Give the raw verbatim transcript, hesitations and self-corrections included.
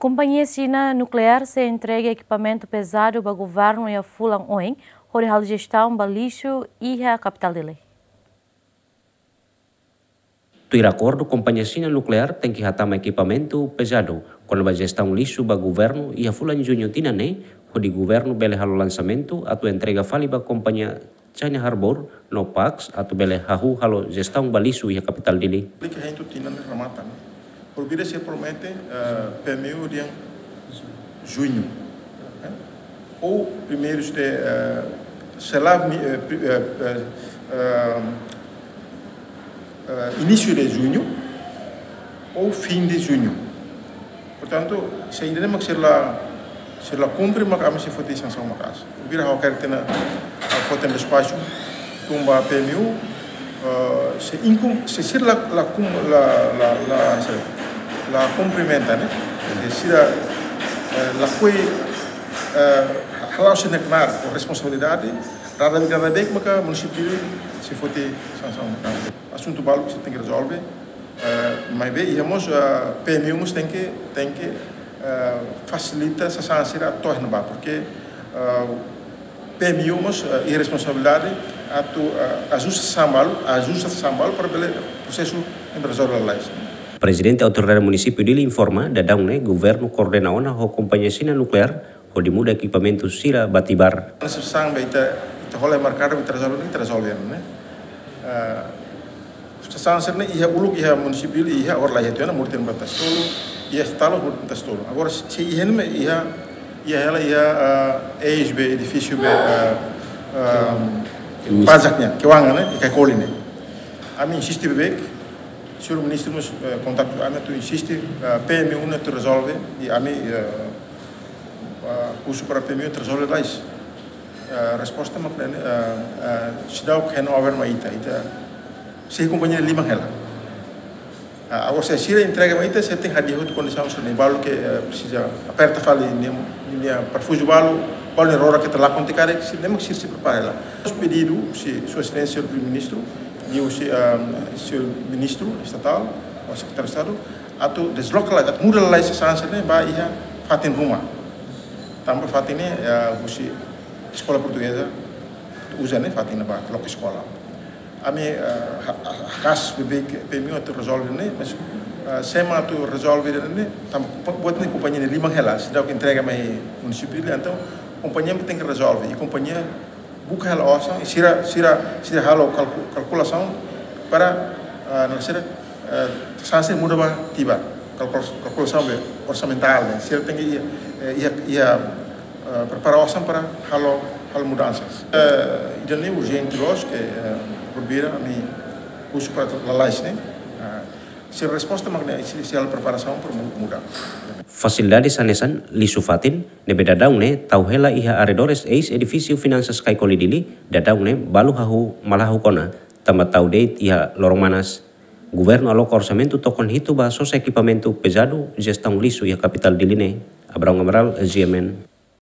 Kompañia Xina nukleár sei entrega ekipamentu pezadu ba governu iha fulan oin, hodi halo jestaun ba lixu iha kapitál Dili. Tuir akordu, kompañia Xina nukleár tenke hatama ekipamentu pezadu kona-ba jestaun lixu ba governu iha fulan Juñu tinan ne'e, hodi governu bele halo lansamentu atu entrega fali ba kompañia China Harbour no Pax atu bele hahú halo jestaun ba lixu iha kapitál Dili. Aplika heintu tinan ne'e remata, ne'e. Por vira se promete, eh, P M U dia Juñu, eh? Ou primeiros de, eh, sei lá, mi-, eh, pri-, eh, eh, eh, eh, início de Junho ou fim de Junho. Portantu, se ainda nem sei lá, sei lá cumpre, mas ami sei foti sansaun maka'as. Vira ha'u quero ter na, ha'u foti despaxu, tun ba P M U, eh, se incum-, se sira la, la cum-, la, la, la, se la cumprimenta, ne'e? De sira, eh, la kui, eh, hala'o sei naknar ho responsabilidade, rada, rada bek maka munisípiu sei foti sansaun maka'as. Asuntu balu ke sei tenke rezolve, eh, maibé iha mós, eh, P M U mós tenke, tenke, eh, fasilita sasán sira to'o iha ne'ebá, porque, eh, P M U mós, eh, iha responsabilidade atu, eh, ajusta sasán balu, ajusta sasán balu para bele prosesu ne'e rezolve lalais. Prezidente Autoridade Munisípiu Dili informa, daudaun ne'e governu koordena ona ho kompañia Xina nukleár hodi muda ekipamentu sira ba Tibar. Sasán be ita, ita hola merkadu, ita rezolve, ita rezolve, ne'e? Eh, sasán sira-ne'e iha uluk iha munisípiu Dili iha, agora laiha tiha ona, murten batas tolu, iha estatal murten batas tolu. Agora se iha ne'e iha, iha hela iha, eh, eis be edifísiu be, eh, eh, pajak nian, keuangan, ne'e, iha Kaikoli ne'e. Ami insiste beibeik, señór ministru mós, eh, kontaktu ami atu insiste, eh, P M U ne'e atu rezolve, i ami, eh, eh, husu para P M U atu rezolve lalais. Eh, resposta mak ne'e, eh, eh, seidauk handover mai ita, ita sei kompañia liman hela. Eh, agora se sira entrega mai ita, sei tenke hadi'a hotu kondisaun sira-ne'e, balu ke, eh, presiza aperta fali ninia, ninia parafuzu balu, balu nia roda ke ita lakon tiha karik, sira-ne'e mak sira sei prepara hela. Mós pedidu husi Sua Exelénsia Primeiru-Ministru, liuhusi, eh, señór ministru estatál, ou sekretáriu Estadu, atu desloka lalais, atu muda lalais sasán sira-ne'e ba iha fatin ruma. Tanba fatin ne'e, eh, husi Eskola Portugeza uza, ne'e, fatin ne'ebá, loke eskola. Ami, eh, ha-, ha-, haka'as beibeik P M U atu rezolve ne'e, mas, eh, se ema atu rezolve ne'e, tanba kompa-, buat ne'e kompañia nia liman hela, seidauk entrega mai munisípiu Dili, entaun kompañia tenke rezolve, i kompañia buka hela osan, i sira, sira, sira halo kalku-, kalkulasaun para, ah, ne'e sira, eh, sasán sira muda ba Tibar. Kalkul-, kalkulasaun be orsamentál, ne'e. Sira tenke iha, eh, iha, iha, eh, prepara osan para halo, halo mudansa. Eh, ida-ne'e urjente loos ke, eh, por vira ami husu para lalais, ne'e. Ah, sira resposta mak ne'e, sira, sira preparasaun para mu-, muda. Fasilidade hanesan lixu fatin ne'ebé daudaun ne'e tau hela iha arredores eis edifísiu Finansas Kaikoli Dili, daudaun ne'e balu hahú malahuk ona, tanba tau de'it iha loron manas. Governu aloka orsamentu tokon hitu ba sosa ekipamentu pezadu jestaun lixu iha kapitál Dili ne'e. Abraão Amaral, G M N.